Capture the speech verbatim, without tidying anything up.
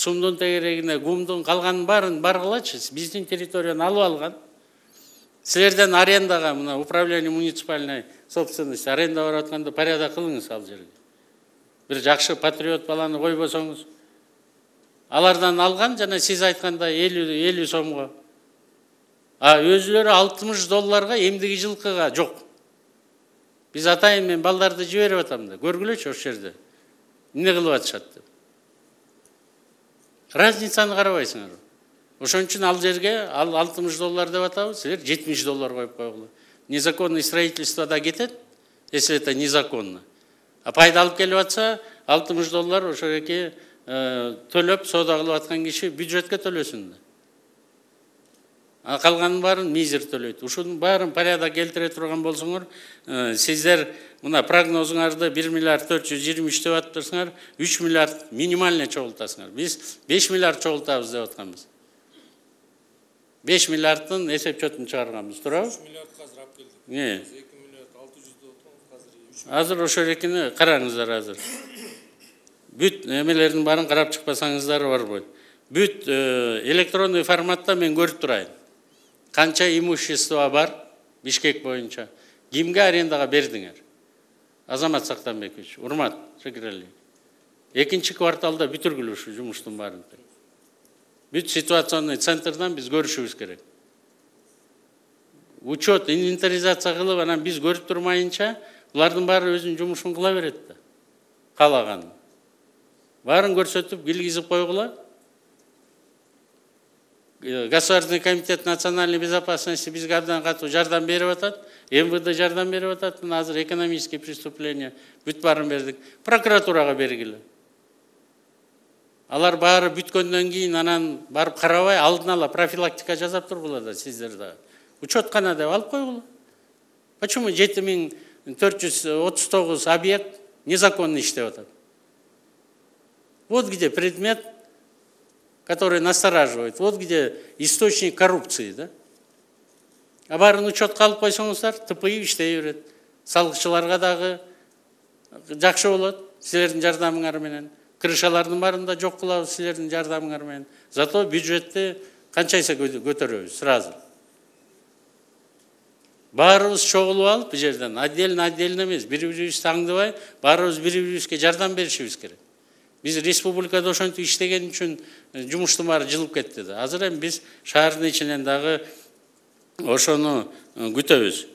сумдун тегерегине, гумдун калганын баарын баргылачы. Биздин территорияны алып алган. Силерден арендага, мына управление муниципальной собственности аренда барып атканда порядок кылыңыз ал жерге. Бир жакшы патриот баланы койбосоңуз. Алардан алган жана сиз айткандай элүү сомго. А өзүлөрү алтымыш долларга эмдиги жылкыга жок. Биз атайын мен балдарды жиберип атам да. Көргүлөчү ошол жерде. Эмне кылып атышат деп. Разницаны карабайсыңар. Ошон үчүн ал жерге ал алтымыш доллар деп атабыз, силер жетимиш доллар коюп койгула. Незаконное строительство да кетет, если это незаконно. А пайда алып келип атса, алтымыш доллар ошо эки төлөп соода кылып аткан киши бюджетке төлөсүн да. А калганын баарын мизер төлөйт. Ушунун баарын порядок келтире турган болсоңор, сиздер мына прогнозуңарды бир миллиард төрт жүз жыйырма үч деп атыпсыңар, үч миллиард минимально чогултасыңар. Биз беш миллиард чогултабыз деп атканбыз. беш миллиардтын эсеп чотун чыгарганбыз, туурабы? үч миллиардка азыр алып келдик. Не? эки миллиард алты жүз деп отурганбыз, азыр үч. Азыр ошол экини караңыздар азыр. Бүт эмелердин баарын карап чыкпасаңыздар барбойт. Бүт электронный форматта мен көрүп турайын. Канча имущество бар Бишкек боюнча? Кимге арендага бердиңер? Азамат Сактанбекович, урмат, шекерли. Экинчи кварталда бүтүргүлө ушу жумуштун баарын. Бүт ситуационный центрдан биз көрүшүбүз керек. Учет, инвентаризация кылып, анан биз көрүп турмайынча, булардын баары өзүнүн жумушун кыла берет да. Каалаган. Баарын көрсөтүп, килгизип койгула. Государственный комитет национальной безопасности бизге абдан катуу жардам берип атат, эм вэ дэ жардам берип атат, азыр экономические преступления бүт баарын бердик. Прокуратурага бергиле. Алар баары бүткөндөн кийин анан барып карабай, алдын ала профилактика жасап тургула да сиздер да. Учет кана деп алып койгула. Почему жети миң төрт жүз отуз тогуз объект незаконно иштеп атат? Вот где предмет, который настораживает. Вот где источник коррупции, да? А баарын учетка алып койсоңуздар, тыпыйып иштей берет. Салыкчыларга дагы жакшы болот, силердин жардамыңар менен. Крышалардын баарында жок кылабыз силердин жардамыңар менен. Зато бюджетти канчайса көтөрөбүз сразу. Баарыбыз чогулуп алып бу жерден отдельно отдельно эмес, бири-бирибизди таңдабай, баарыбыз бири-бирибизге жардам беришибиз керек. Биз республикада ошентип иштеген үчүн жумуштун баары жылып кетти да. Азыр эми биз шаардын ичинен дагы ошону күтөбүз.